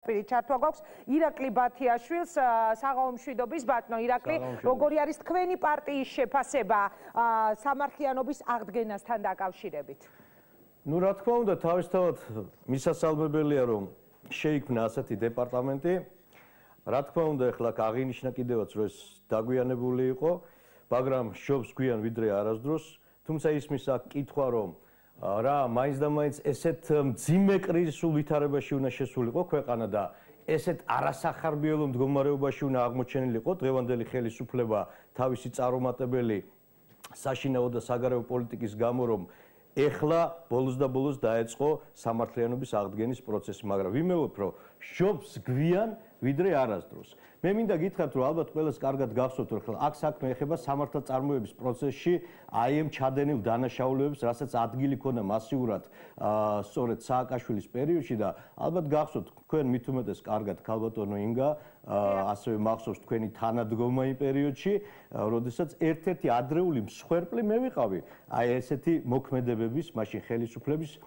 ჩართვა გვაქვს ირაკლი ბათიაშვილს, საღამო მშვიდობის ბატონო ირაკლი, როგორი არის თქვენი პარტიის შეფასება სამართლიანობის აღდგენასთან დაკავშირებით? Ну, რა თქმა უნდა, თავისთავად მისასალმებელია, რომ შეიქმნა ასეთი დეპარტამენტი. რა თქმა უნდა, ეხლა აღინიშნა კიდევაც, რომ ეს დაგვიანებული იყო, მაგრამ შობს გვიან ვიდრე არასდროს. თუმცა ისმის აქ კითხვა, რომ რა მაინც და მაინც ესეთ მძიმე კრიზისულ ვითარებაში უნდა შესულიყო ქვეყანა და ესეთ არასახარბიელო მდგომარეობაში უნდა აღმოჩენილიყო დღევანდელი ხელისუფლება თავისი წარუმატებელი საშინაო და საგარეო პოლიტიკის გამო, რომ ეხლა ბოლოს და ბოლოს დაეწყო სამართლიანობის აღდგენის პროცესი, მაგრამ ვიმეორებ, რომ შობს გვიან ვიდრე არასდროს. მე მინდა გითხრათ, რომ ალბათ ყველას კარგად გახსოვთ, რომ ახლა აქ საქმე ეხება სამართალწარმოების პროცესში აი ამ ჩადენილ დანაშაულებებს, რასაც ადგილი ქონდა მასიურად სწორედ სააკაშვილის პერიოდში და ალბათ გახსოვთ, თქვენ მით უმეტეს კარგად ქალბატონო ინგა, ასევე მახსოვს თქვენი თანადგომა იმ პერიოდში, როდესაც ერთ-ერთი ადრეული მსხვერპლი მე ვიყავი აი ესეთი მოქმედებების, მაშინ ხელისუფლების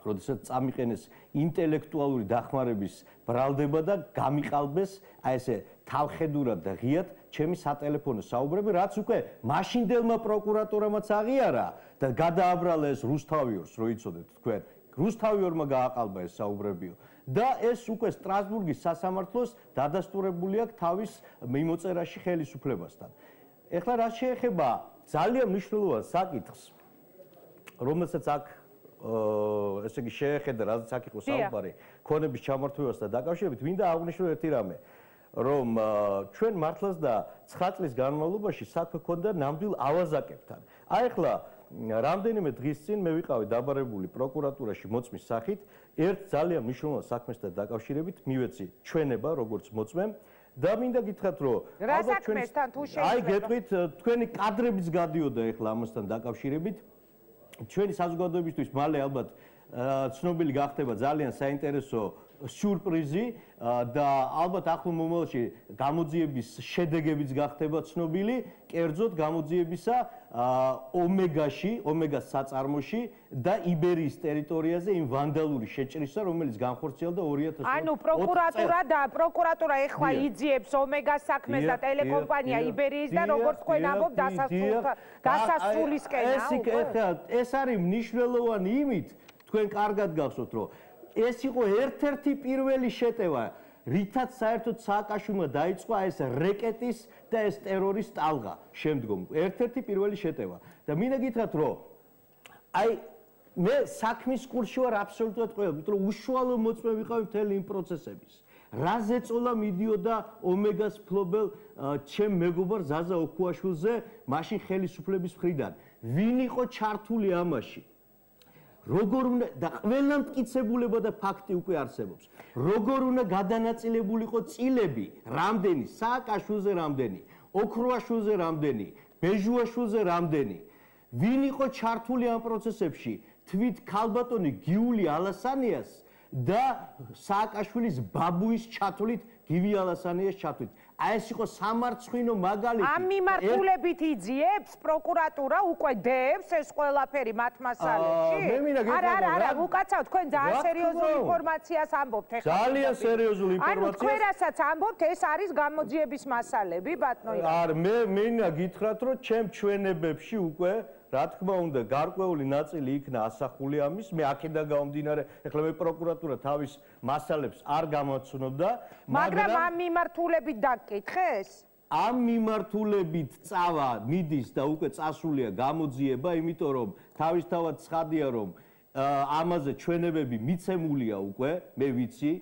როდესაც წამიყენეს ინტელექტუალური დახმარების ბრალდება და გამიყალბეს აი ესე თავხედურად და ღიად ჩემი სატელეფონო საუბრები, რაც უკვე მაშინდელმა პროკურატურამაც აღიარა და გადააბრალა ეს რუსთავიორს, რო იცოდეთ თქვენ. რუსთავიორმა გააყალბა ეს საუბრებიო და ეს უკვე სტრასბურგის სასამართლოს დადასტურებული აქვს თავის მიმოწერაში ხელისუფლებასთან. ეხლა რაც შეეხება ძალიან მნიშვნელოვან საკითხს, რომელსაც აქ ესე იგი შეეხედა, რადგან აქ იყო საუბარი ქონების ჩამართვასთან დაკავშირებით, მინდა აღვნიშნო ერთი რამე, რომ ჩვენ მართლაც და 9 წლის განმავლობაში საქმე ქონდა ნამდვილ ავაზაკებთან. აი ახლა რამდენიმე დღის წინ მე ვიყავი დაბარებული პროკურატურაში მოწმის სახით, ერთ ძალიან მნიშვნელოვან საქმესთან დაკავშირებით მივეცი ჩვენება, როგორც მოწმემ და მინდა გითხრათ, რომ რა საქმესთან თუ შეიძლება? აი გეტყვით, თქვენი კადრებიც გადიოდა ახლა ამასთან დაკავშირებით. ჩვენი საზოგადოებისთვის მალე ალბათ ცნობილი გახდება ძალიან საინტერესო სიურპრიზი და ალბათ ახლო მომავალში გამოძიების შედეგებიც გახდება ცნობილი, კერძოდ გამოძიებისა ომეგაში, ომეგას საწარმოში და იბერიის ტერიტორიაზე იმ ვანდალური შეჭრისა, რომელიც განხორციელდა 2020 წელს. ანუ პროკურატურა ეხლა იძიებს ომეგას საქმეს და ტელეკომპანია იბერიის და როგორც თქვენ ამბობთ დასასრულისკენა. ეს არის მნიშვნელოვანი იმით, თქვენ კარგად გახსოვთ, რომ ეს იყო ერთ-ერთი პირველი შეტევა, რითაც საერთოდ სააკაშვილმა დაიწყო ეს რეკეტის და ეს ტერორის ტალღა შემდგომ. ერთ-ერთი პირველი შეტევა. და მინდა გითხრათ, რომ აი მე საქმის კურსში ვარ აბსოლუტურად ყველა, იმიტომ რომ უშუალო მოწმე ვიყავი მთელი იმ პროცესების. რა ზეწოლა მიდიოდა ომეგას ფლობელ ჩემ მეგობარ ზაზა ოქუაშვილზე მაშინ ხელისუფლების მხრიდან. ვინ იყო ჩართული ამაში? როგორ უნდა და ყველა მტკიცებულება და ფაქტი უკვე არსებობს. როგორ უნდა გადანაწილებულიყო წილები, რამდენი, სააკაშვილზე რამდენი, ოქროაშვილზე რამდენი, ბეჟუაშვილზე რამდენი. ვინ იყო ჩართული ამ პროცესებში? თვით ქალბატონი გიული ალასანიას და სააკაშვილის ბაბუის ჩათვლით გივი ალასანიას ჩათვლით. აი ეს იყო სამარცხვინო მაგალითი. ამ მიმართულებით იძიებს პროკურატურა უკვე დევს ეს ყველაფერი მათ მასალებში? არა, უკაცრავ თქვენ ძალიან სერიოზულ ინფორმაციას ამბობთ ეხლა. ძალიან სერიოზულ ინფორმაციას. ანუ თქვენ რასაც ამბობთ, ეს არის გამოძიების მასალები, ბატონო. არა, მე მინდა გითხრათ, რომ ჩემ ჩვენებებში უკვე რა თქმა უნდა, გარკვეული ნაწილი იქნა ასახული ამის, მე აქედან გამომდინარე, ეხლა მე პროკურატურა თავის მასალებს არ გამოცნობდა, მაგრამ ამ მიმართულებით დაგკითხეს? ამ მიმართულებით წავა მიდის და უკვე წასულია გამოძიება, იმიტომ რომ თავისთავად ცხადია, რომ ამაზე ჩვენებები მიცემულია უკვე, მე ვიცი,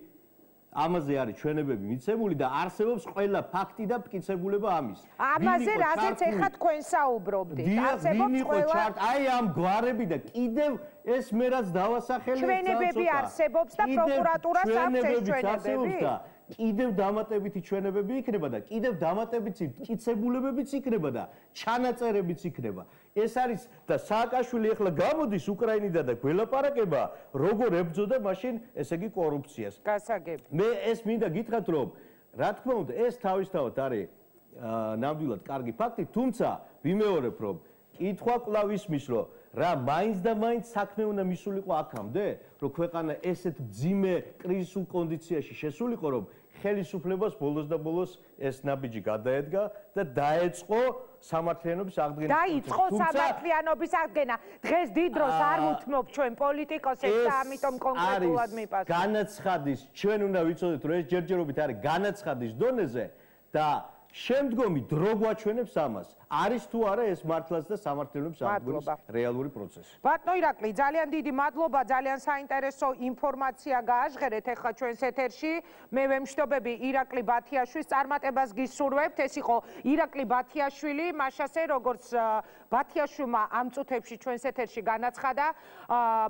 ამაზე არის ჩვენებები მიცემული და არსებობს ყველა ფაქტი და მტკიცებულება ამის. ამაზე რაზეც ეხლა თქვენ საუბრობდით, არსებობს ყველა აი ამ გვარები და კიდევ ეს მე რაც დავასახელე ჩვენებები არსებობს და პროკურატურას აქვს ეს ჩვენებები. კიდევ დამატებითი ჩვენებები იქნება და კიდევ დამატებითი მტკიცებულებებიც იქნება და ჩანაწერებიც იქნება. ეს არის და სააკაშვილი ახლა გამოდის უკრაინიდან და გველაპარაკება, როგორ ებრძოდა მაშინ ესე იგი კორუფციას. გასაგები. მე ეს მინდა გითხრათ, რომ რა თქმა უნდა ეს თავისთავად არის ნამდვილად კარგი ფაქტი, თუმცა ვიმეორებ, რომ კითხვა კვლავ ისმის, რომ რა მაინც და მაინც საქმე უნდა მისულიყო აქამდე, რომ ქვეყანა ესეთ მძიმე კრიზისულ კონდიციაში შესულიყო, რომ ხელისუფლებას ბოლოს და ბოლოს ეს ნაბიჯი გადაედგა და დაეწყო სამართლიანობის აღდგენა. დაიწყო სამართლიანობის აღდგენა. დღეს დიდ დროს არ ვუთმობ ჩვენ პოლიტიკოსებს და ამიტომ კონკრეტულად მიპასუხეთ. განაცხადის, ჩვენ უნდა ვიცოდეთ, რომ ეს ჯერჯერობით არის განაცხადის დონეზე და შემდგომი დრო გვაჩვენებს ამას. არის თუ არა ეს მართლაც და სამართლიანობის აღდგენის რეალური პროცესი. ბატონო ირაკლი, ძალიან დიდი მადლობა, ძალიან საინტერესო ინფორმაცია გააჟღერეთ ახლა ჩვენს ეთერში. მე ვემშტობები ირაკლი ბათიაშვილის წარმატებას გისურვებთ. ეს იყო ირაკლი ბათიაშვილი, მაშასე როგორც ბათიაშვილმა ამ წუთებში ჩვენს ეთერში განაცხადა,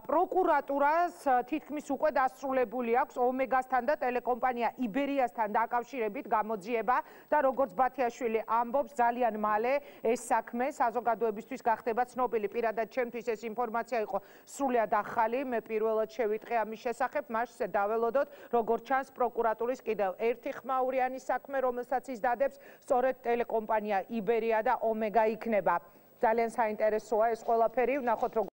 პროკურატურას თითქმის უკვე დასრულებული აქვს ომეგასთან და ტელეკომპანია იბერიასთან დაკავშირებით გამოძიება და როგორც ბათიაშვილი ამბობს, ძალიან მალე ეს საქმე საზოგადოებისთვის გახდება ცნობილი. პირადად ჩემთვის ეს ინფორმაცია იყო სრულიად ახალი. მე პირველად შევიტყე ამის შესახებ, მაშინ დაველოდოთ, როგორც ჩანს პროკურატურის კიდევ ერთი ხმაურიანი საქმე, რომელსაც ის დადებს, სწორედ ტელეკომპანია იბერია და ომეგა იქნება. ძალიან საინტერესოა ეს ყველაფერი, ვნახოთ